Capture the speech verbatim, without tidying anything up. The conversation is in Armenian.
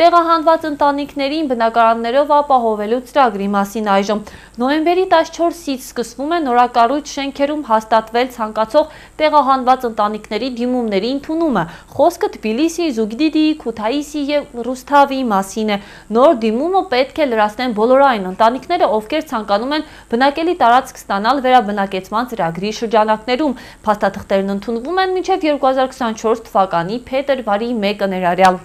Տեղահանված ընտանիքներին բնակարաններով ապահովելու ծրագրի մասին այժմ։ Նոյեմբերի տասնչորսից սկսվում է նորակառույց շենքերում հաստատվել ցանկացող տեղահանված ընտանիքների դիմումների ընդունումը։ Խոսքը Թբիլիսի, Զուգդիդի, Քութայիսի և Ռուսթավի մասին է։ Նոր դիմումը պետք է լրացնեն բոլոր այն ընտանիքները, ովքեր ցանկանում են բնակելի տարածք ստանալ վերաբնակեցման ծրագրի շրջանակներում։ Փաստաթղթերն ընդունվում են մինչև երկու հազար քսաներկու թվականի փետրվարի մեկը ներառյալ։